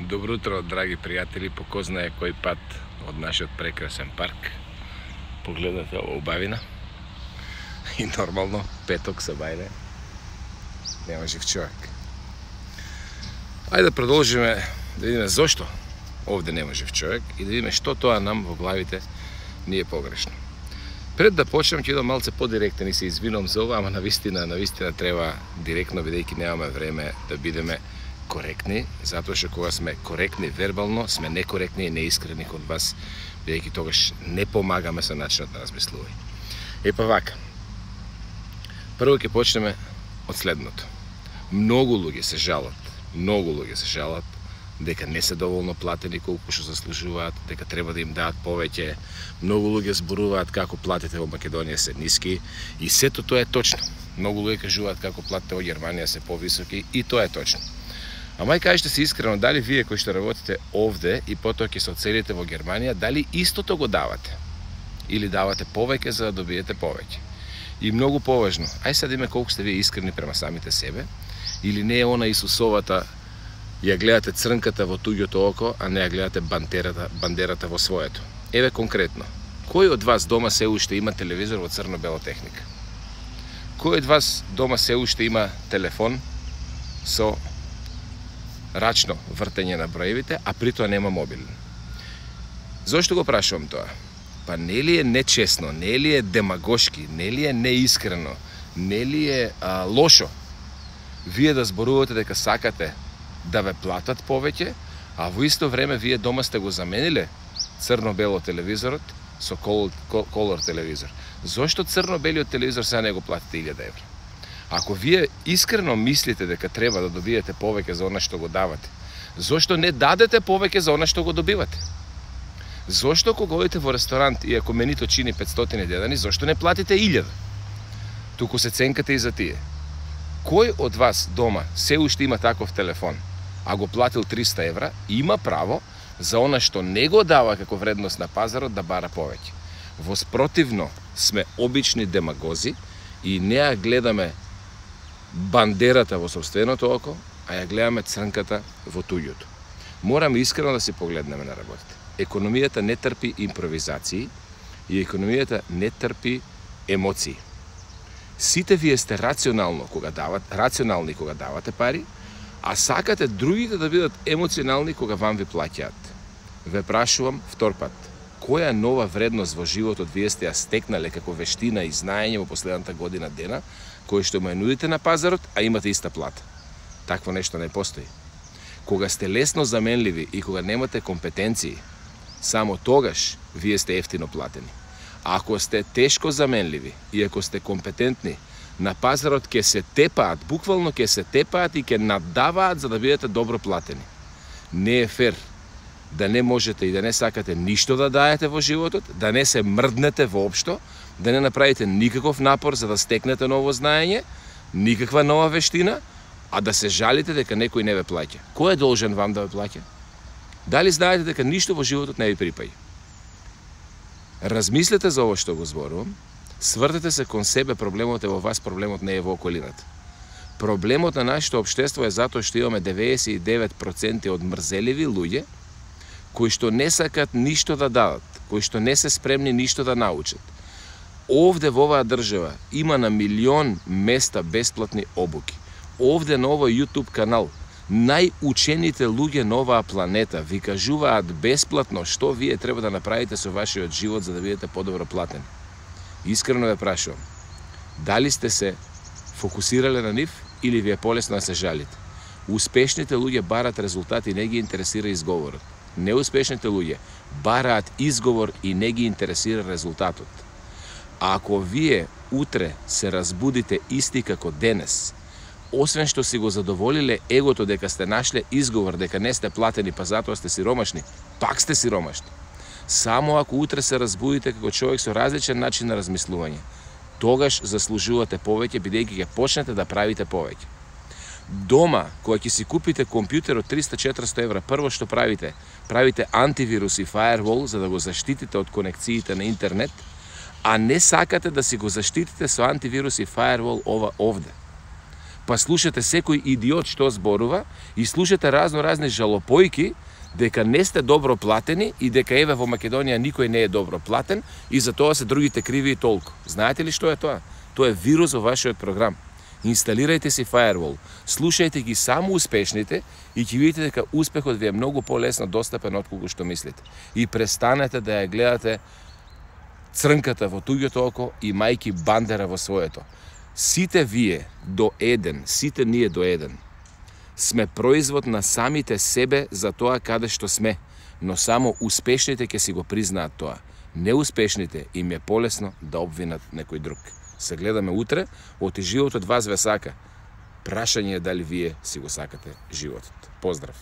Добро утро, драги пријатели, по ко знае кој пат од нашиот прекрасен парк. Погледнете ова убавина. И нормално, петок се бајде. Нема жив човек. Ајде да продолжиме да видиме зошто овде нема жив човек и да видиме што тоа нам во главите ни е погрешно. Пред да почнем, ќе идам малце подиректен и се извинувам за ова, ама навистина треба директно, бидејќи немаме време да бидеме коректни, затоа што кога сме коректни вербално, сме некоректни и неискрени кон вас, бидејќи тогаш не помагаме со начинот на размислување. Епа вака. Прво ќе почнеме од следното. Многу луѓе се жалат дека не се доволно платени колку што заслужуваат, дека треба да им даат повеќе. Многу луѓе зборуваат како платите во Македонија се ниски и сето тоа е точно. Многу луѓе кажуваат како платите во Германија се повисоки и тоа е точно. Ама и кажете се искрено, дали вие кои што работите овде и потоа ќе се оцелите во Германија, дали истото го давате? Или давате повеќе за да добиете повеќе? И многу поважно, ај сега да име колку сте вие искрени према самите себе, или не е она Исусовата, ја гледате црнката во туѓото око, а не ја гледате бандерата во своето. Еве конкретно, кој од вас дома се уште има телевизор во црно-бела техника? Кој од вас дома се уште има телефон со рачно вртење на броевите, а при тоа нема мобилен? Зошто го прашувам тоа? Па нели е нечесно, нели е демагошки, нели е неискрено, нели е лошо вие да зборувате дека сакате да ве платат повеќе, а во исто време вие дома сте го замениле црно-бело телевизорот со колор телевизор? Зошто црно-белиот телевизор сега не го платите 1000 евра? Ако вие искрено мислите дека треба да добиете повеќе за она што го давате, зошто не дадете повеќе за она што го добивате? Зошто кога одите во ресторант и ако менито чини 500 дедани, зошто не платите 1000? Туку се ценкате и за тие. Кој од вас дома се уште има таков телефон, а го платил 300 евра, има право за она што не го дава како вредност на пазарот да бара повеќе? Воспротивно сме обични демагози и не ја гледаме бандерата во собственото око, а ја гледаме црнката во туѓото. Мораме искрено да се погледнеме на работите. Економијата не трпи импровизации и економијата не трпи емоции. Сите вие сте рационални кога давате пари, а сакате другите да бидат емоционални кога вам ви плаќаат. Ве прашувам втор пат, која нова вредност во животот вие сте ја стекнале како вештина и знаење во последната година дена, кој што му ја нудите на пазарот, а имате иста плата? Такво нешто не постои. Кога сте лесно заменливи и кога немате компетенции, само тогаш вие сте ефтино платени. А ако сте тешко заменливи и ако сте компетентни, на пазарот ќе се тепаат, буквално ќе се тепаат и ќе наддаваат за да бидете добро платени. Не е фер да не можете и да не сакате ништо да даете во животот, да не се мрднете воопшто, да не направите никаков напор за да стекнете ново знаење, никаква нова вештина, а да се жалите дека некој не ве плаќа. Кој е должен вам да ве плаќа? Дали знаете дека ништо во животот не ви припаѓа? Размислете за ово што го зборувам, свртете се кон себе, проблемот е во вас, проблемот не е во околината. Проблемот на нашето општество е затоа што имаме 99% од мрзеливи луѓе кои што не сакат ништо да дадат, кои што не се спремни ништо да научат. Овде во оваа држава има на милион места бесплатни обуки. Овде на овој YouTube канал најучените луѓе на оваа планета ви кажуваат бесплатно што вие треба да направите со вашиот живот за да бидете подобро платени. Искрено ве прашувам, дали сте се фокусирале на нив или ви е полесно да се жалите? Успешните луѓе барат резултати и не ги интересира изговорот. Неуспешните луѓе бараат изговор и не ги интересира резултатот. А ако вие утре се разбудите исти како денес, освен што си го задоволиле егото дека сте нашле изговор дека не сте платени па затоа сте сиромашни, пак сте сиромашни. Само ако утре се разбудите како човек со различен начин на размислување, тогаш заслужувате повеќе, бидејќи ќе почнете да правите повеќе. Дома, кога ќе си купите компјутер од 300-400 евра, прво што правите антивирус и фаервол за да го заштитите од конекциите на интернет, а не сакате да си го заштитите со антивирус и фаервол овде. па слушате секој идиот што зборува и слушате разни жалопојки дека не сте добро платени и дека еве во Македонија никој не е добро платен и за тоа се другите криви и толку. Знаете ли што е тоа? Тоа е вирус во вашиот програм. Инсталирајте си Firewall, слушајте ги само успешните и ќе видите дека успехот ви е многу полесно достапен отколку што мислите. И престанете да ја гледате црнката во туѓото око и мајки бандера во своето. Сите вие до еден, сите ние до еден, сме производ на самите себе за тоа каде што сме, но само успешните ќе си го признаат тоа. Неуспешните им е полесно да обвинат некој друг. Се гледаме утре, оти животот вас ве сака. Прашање е дали вие си го сакате животот. Поздрав!